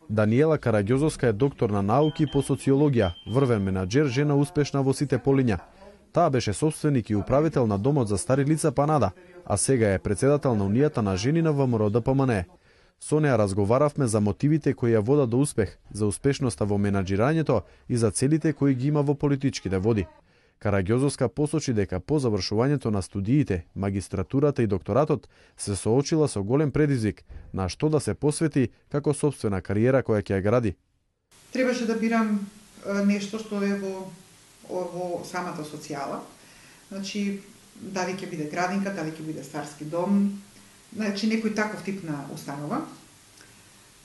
Даниела Караѓозовска е доктор на науки по социологија, врвен менаџер, жена успешна во сите полиња. Таа беше собственик и управител на домот за стари лица Панада, а сега е председател на Унијата на жени на ВМРО ДПМНЕ. Со неа разговаравме за мотивите кои ја водат до успех, за успешноста во менаџирањето и за целите кои ги има во политичките води. Караѓозовска посочи дека по завршувањето на студиите, магистратурата и докторатот се соочила со голем предизвик на што да се посвети како сопствена кариера која ќе ја гради. Требаше да бирам нешто што е во самата социјала. Значи, дали ќе биде градинка, дали ќе биде старски дом, значи некој таков тип на установа.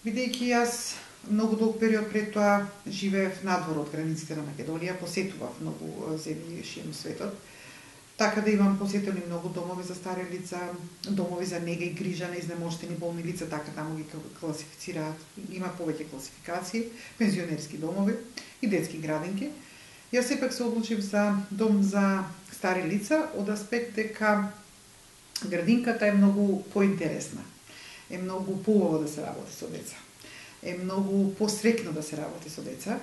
Бидејќи јас многу долг период пред тоа живеев надвор од границите на Македонија, посетував многу земји широм светот, така да имам посетени многу домови за стари лица, домови за нега и грижа на изнемоштени болни лица, така таму ги класифицираат, има повеќе класификации, пензионерски домови и детски градинки. Јас сепак се одлучив за дом за стари лица од аспект дека градинката е многу поинтересна, е многу поубаво да се работи со деца, е многу посрекно да се работи со деца.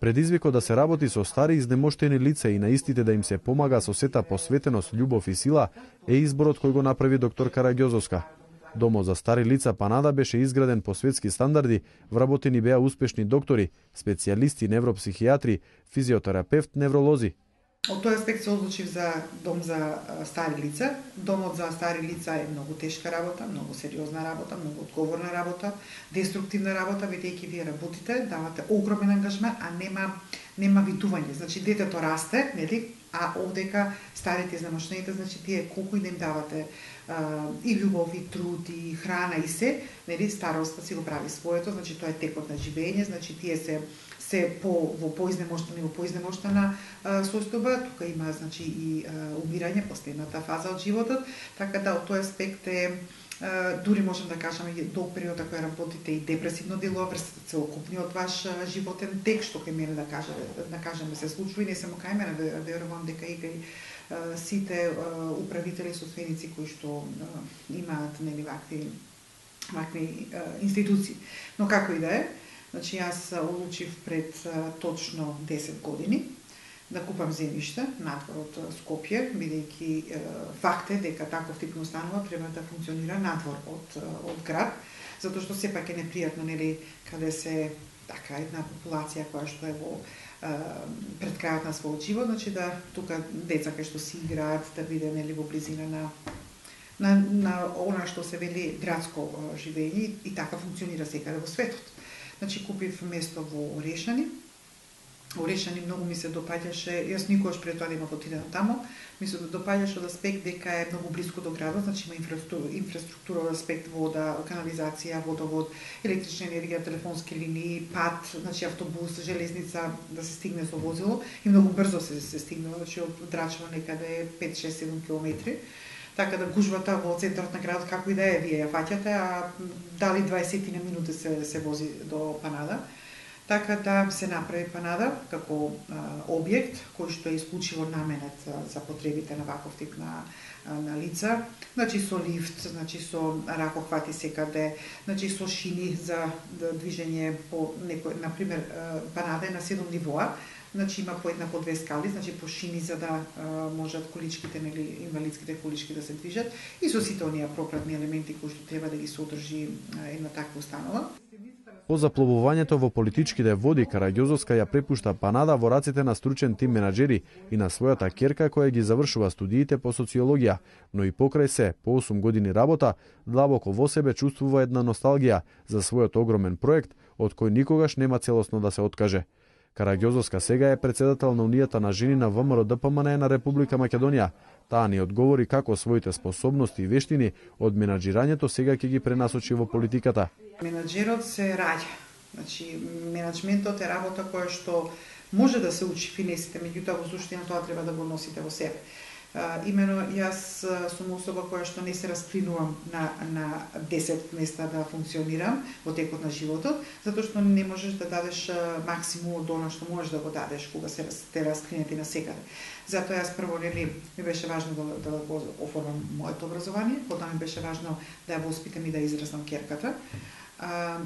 Предизвикот да се работи со стари изнемоштени лица и на истите да им се помага со сета посветеност, љубов и сила е изборот кој го направи доктор Караѓозовска. Домот за стари лица Панада беше изграден по светски стандарди, вработени беа успешни доктори, специјалисти, невропсихијатри, физиотерапевт, невролози. Од тој аспект се одлучив за дом за стари лица. Домот за стари лица е многу тешка работа, многу сериозна работа, многу одговорна работа, деструктивна работа, бидејќи вие работите, давате огромен ангажмент, а нема витување. Значи детето расте, нели? А овдека старите изнемоштените, значи тие колку и да им давате и љубов, и труд, и храна, и се, нели? Староста си го прави своето, значи тоа е текот на живење, значи тие се во поизнемоштена состојба, тука има значи и умирање, последната фаза од животот, така да од тој аспект е дури можем да кажеме долг период кој работите и депресивно делува врз целокупниот ваш животен тек, што кај мене да кажеме се случува и не само кај мене, верувам дека и кај сите управители собственици кои што имаат нели вакви институции. Но како и да е, значи јас одлучив пред точно 10 години да купам земјиште надвор од Скопје, бидејќи факт е дека таков тип установа треба да функционира надвор од град, затоа што сепак е непријатно, нели, каде се така една популација која што е во пред крајот на својот живот, значи да тука деца кај што си играат да биде нели во близина на она што се вели градско живење и така функционира секаде во светот. Значи купив место во Орешани. Орешани многу ми се допаѓаше, јас никогаш пред тоа нема отидено таму, ми се допаѓаше од аспект дека е многу близко до градот, значи има инфраструктура од аспект вода, канализација, водовод, електрична енергија, телефонски линии, пат, значи автобус, железница да се стигне со возило и многу брзо се стигнува, значи од Драчево некаде 5-6-7 километри. Така да гужвата во центарот на градот како и да е, вие ја фаќате, а дали 20 на минути се вози до Панада. Така да се направи Панада како објект кој што е исклучиво наменет за потребите на ваков тип на лица, значи со лифт, значи со ракохвати секаде, значи со шини за движење по некој, например, Панада е на 7 нивоа, значи има по една по две скали, значи по шини за да можат количките, нели инвалидските колички да се движат и со сите оние пропратни елементи кои што треба да ги содржи една таква установа. По запловувањето во политичките води, Караѓозовска ја препушта Панада во раците на стручен тим менаџери и на својата ќерка која ги завршува студиите по социологија, но и покрај се, по 8 години работа, длабоко во себе чувствува една носталгија за својот огромен проект, од кој никогаш нема целосно да се откаже. Караѓозовска сега е председател на Унијата на жени на ВМРО ДПМНЕ на Република Македонија. Таа ни одговори како своите способности и вештини од менаџирањето сега ќе ги пренасочи во политиката. Менаџерот се раѓа. Значи, менаџментот е работа која што може да се учи финесите, меѓутоа во суштина тоа треба да го носите во себе. Имено јас сум особа која што не се раскринувам на 10 места да функционирам во текот на животот, затоа што не можеш да дадеш максимум од она што можеш да го дадеш кога се те раскринете на секаде. Затоа јас прво ми беше важно да го оформам моето образование, потоа ми беше важно да ја воспитам и да израснам ќерката.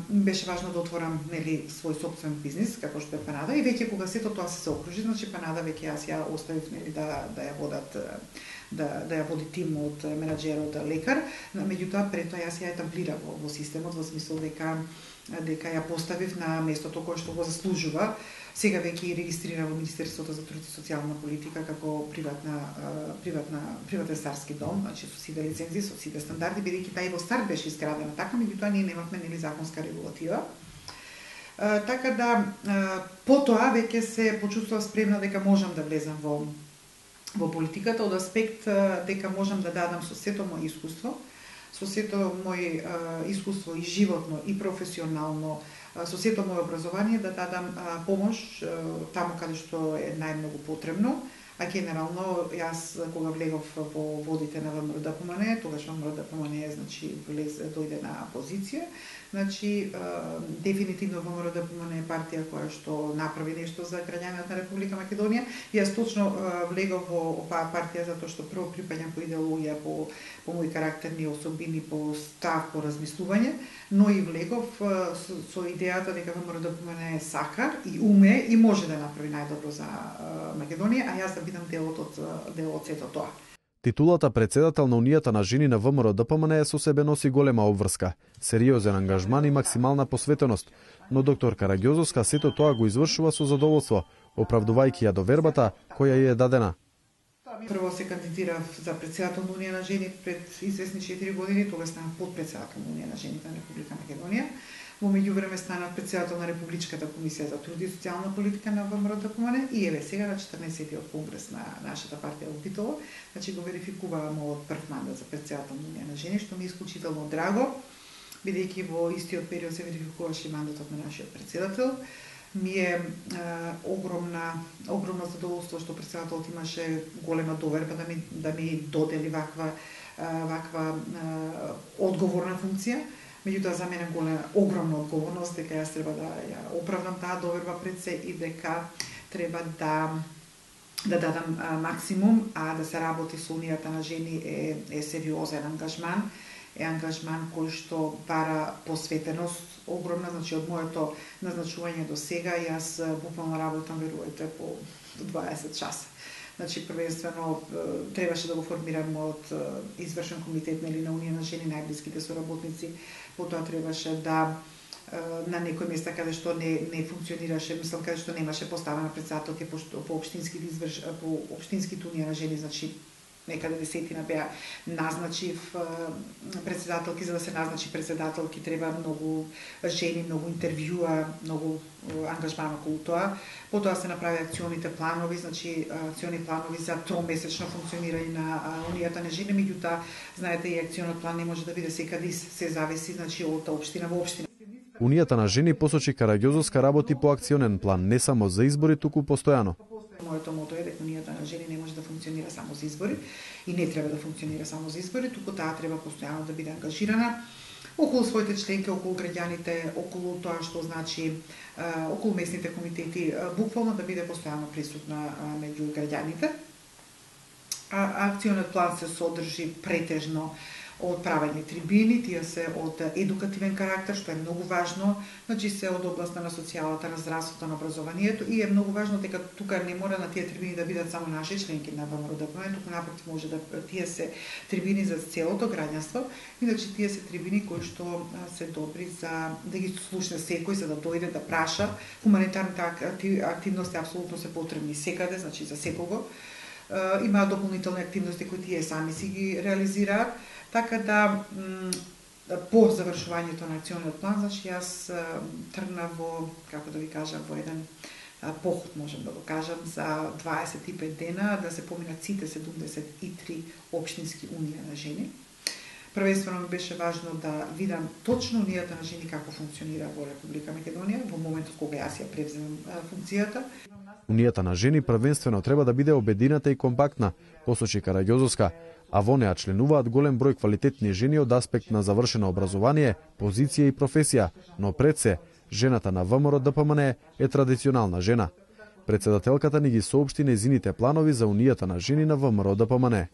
беше важно да отворам свој сопствен бизнис како што е Панада и веќе кога сето тоа се окружи, значи Панада веќе јас ја оставив да ја водат да ја води тим од менаџер, од лекар, меѓутоа пред тоа јас ја етаблирав во системот во смисол дека ја поставив на местото кое што го заслужува. Сега веќе и регистрира во Министерството за труд и социјална политика како приватен старски дом, значи со сите лицензи, со сите стандарди, бидејќи таа и во старт беше изградена така, меѓутоа ние немавме законска регулатива. Така да потоа веќе се почувствував спремна дека можам да влезам во политиката од аспект дека можам да дадам со сето мој искуство, со сето мој искуство и животно и професионално, со сето моје образование да дадам помош таму каде што е најмногу потребно, а генерално јас кога влегов во водите на ВМРО-ДПМНЕ, тогаш ВМРО-ДПМНЕ значи дојде на опозиција, значи дефинитивно ВМРО-ДПМНЕ е партија која што направи нешто за граѓаните на Република Македонија. Јас точно влегов во оваа партија затоа што прво припаѓам по идеологија, по мои карактерни особини, по став, по размислување, но и влегов со идејата дека ВМРО-ДПМНЕ сака и уме и може да направи најдобро за Македонија, а јас да бидам дел од сето тоа. Титулата председател на Унијата на жени на ВМРО-ДПМНЕ со себе носи голема обврска, сериозен ангажман и максимална посветеност, но доктор Караѓозовска сето тоа го извршува со задоволство, оправдувајќи ја довербата која ја е дадена. Прво се кандидирав за председател на Унија на жените пред известни 4 години, тогаш станав подпредседател на Унија на жените на Република Македонија. Во меѓувреме станав председател на Републичката комисија за труд и социјална политика на ВМРО-ДПМНЕ и еве сега на 14-тиот конгрес на нашата партија во Битола, значи го верификуваа мојот прв мандат за председател на Унија на жени, што ми е исклучително драго, бидејќи во истиот период се верификуваше мандатот на нашиот председател. Ми е огромно задоволство што председателот имаше голема доверба да ми додели ваква одговорна функција. Меѓутоа за мене огромна одговорност дека јас треба да ја оправдам таа доверба пред се и дека треба да дадам максимум, а да се работи со Унијата на жени е сериозен ангажман, е ангажман кој што бара посветеност огромна, значи од моето назначување до сега јас буквално работам, верувате, по 20 часа. Значи, првенствено, требаше да го формирам мојот извршен комитет на Унија на жени, најблиските соработници, потоа требаше да на некој места каде што не функционираше, мислам, каде што немаше поставена председателки по општинските Унија на жени, значи некаде десетина беа, назначив председателки, за да се назначи председателки треба многу жени, многу интервјуа, многу ангажман околу тоа. Потоа се направи акционите планови, значи акциони планови за тромесечно функционирање на Унијата на жени, меѓутоа, знаете, и акционот план не може да биде секаде, се зависи, значи, од општина во општина. Унијата на жени, посочи Караѓозовска, работи по акционен план, не само за избори, туку постојано. Моето мото е дека Унијата на жени не може да функционира само за избори и не треба да функционира само за избори, туку таа треба постојано да биде ангажирана околу своите членки, околу граѓаните, околу тоа што значи околу местните комитети, буквално да биде постојано присутна меѓу граѓаните. Акционот план се содржи претежно од правени трибини, тие се од едукативен карактер, што е многу важно, значи се од областта на социјалата, на здравството, на образованието и е многу важно дека тука не мора на тие трибини да бидат само наши членки на ВМРО-ДПМНЕ, туку напротив може да тие се трибини за целото граѓанство, иначе тие се трибини кои што се добри за да ги слушне секој, за да дојде да праша. Хуманитарните активности апсолутно се потребни секаде, значи за секого. Има дополнителни активности кои тие сами си ги реализираат. Така да, по завршувањето на акционот план, значи јас тргнав во, како да ви кажам, во еден поход, можем да го кажам, за 25 дена, да се поминат сите 73 општински Унија на жени. Првенствено ми беше важно да видам точно Унијата на жени како функционира во Република Македонија, во моментот кога јас ја превземам функцијата. Унијата на жени првенствено треба да биде обединета и компактна, посочи Караѓозовска, а во неа членуваат голем број квалитетни жени од аспект на завршено образование, позиција и професија, но пред се, жената на ВМРО-ДПМНЕ е традиционална жена. Председателката ни ги соопшти нејзините планови за Унијата на жени на ВМРО-ДПМНЕ.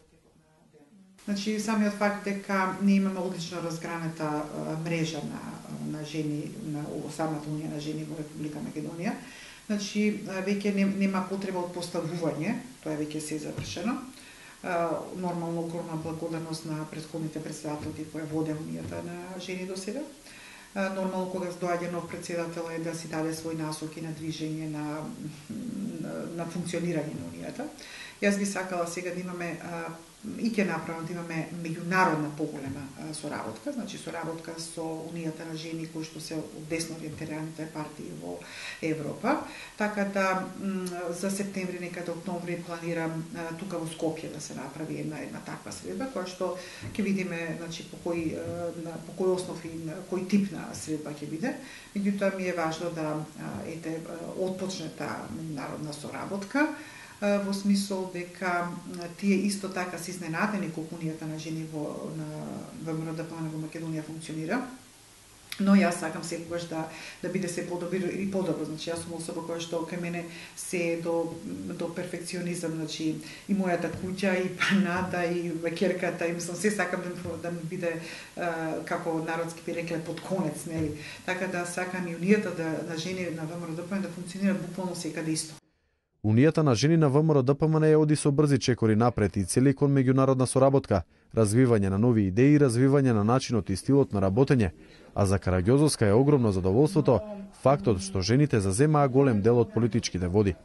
Значи, самиот факт дека ние имаме одлично разгранета мрежа на на жени на самата Унија на жени во Република Македонија. Значи веќе нема потреба од поставување, тоа е веќе се завршено. Нормално огромна благодарност на претходните председателки кои воде Унијата на жени до сега. Нормално кога доаѓа нов председател е да си даде свој насоки на движење на функционирање на Унијата. Јас би сакала сега да имаме и ќе направам да имаме меѓународна поголема соработка, значи соработка со Унијата на жени кои што се од десно ориентираните партии во Европа. Така да за септември, некаде октомври планирам тука во Скопје да се направи една таква средба која што ќе видиме, значи по кој основ и кој тип на средба ќе биде. Меѓутоа ми е важно да отпочне таа меѓународна соработка, во смисол дека тие исто така се изненадени колку Унијата на жени во ВМРО-ДПМН во Македонија функционира. Но јас сакам секогаш да биде се подобро и подобро. Значи јас сум особа која што кај мене се до перфекционизам, значи и мојата куќа и паната и векерката, и мислам се сакам да ми биде како народски би рекле под конец, нели? Така да сакам и Унијата на жени на ВМРО-ДПМН да функционира буквално секаде исто. Унијата на жени на ВМРО-ДПМН ја оди со брзи чекори напред и цели кон меѓународна соработка, развивање на нови идеи и развивање на начинот и стилот на работење, а за Караѓозовска е огромно задоволството фактот што жените заземаа голем дел од политичките води.